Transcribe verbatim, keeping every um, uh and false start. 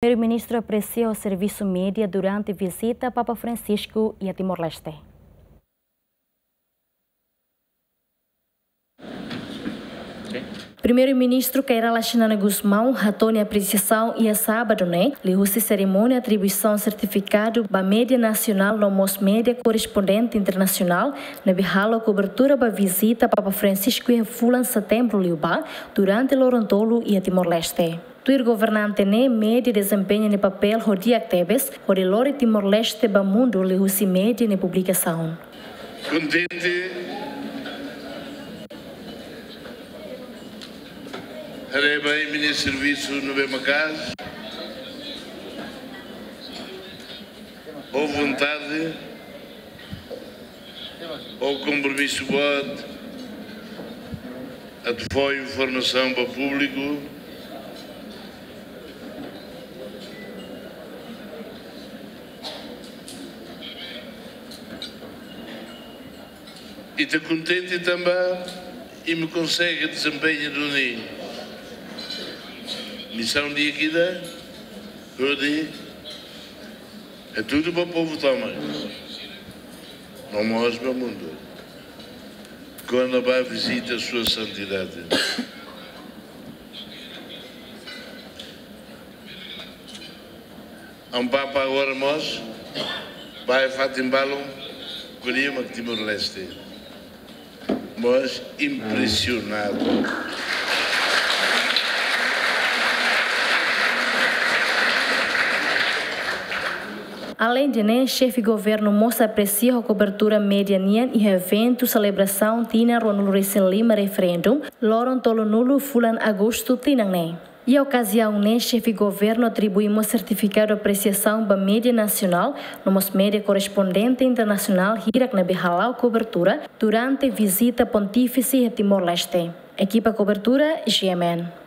Primeiru-Ministru apresia servisu média durante vizita Papa Francisco iha Timor-Leste. Primeiru-Ministru Kay Rala Xanana Gusmão hato'o nia apresiasaun iha sábadu ne'e, liuhusi serimónia atribuisaun sertifikadu ba média nasionál no mós média korrespondente internasionál ne'ebé halo kobertura ba vizita Papa Francisco iha fulan setembru liubá, durante loron tolu iha Timor-Leste. Tuir governante ne'e, média dezempeña nia papél ho di'ak tebes, hodi lori Timor-Leste ba mundu liuhusi média nia publikasaun. Kontente haree ba imi-nia servisu ne'ebé maka'as, boa vontade, ho kompromisu boot atu fó informasaun ba públiku. Ita kontente tanba imi konsege dezempeña duni misaun di'ak ida, hodi hatudu ba povu tomak, no mós ba mundu, kona-ba vizita Sua Santidade. Amu Papa agora mós bá iha fatin balun, ko'alia mak Timor-Leste. Mós impresionadu. Aleinde ne'e, xefe governu mós apresia ho kobertura média nian iha eventu selebrasaun tinan ruanulu-resin-lima referendum, loron tolunulu fulan agostu tinan ne'e. Iha okaziaun ne'e, xefe governu atribui mós sertifikadu apresiasaun ba média nasionál, no mós média korrespondente internasionál hirak ne'ebé hala'o kobertura durante vizita pontífise iha Timor-Leste. Ekipa kobertura, G M N.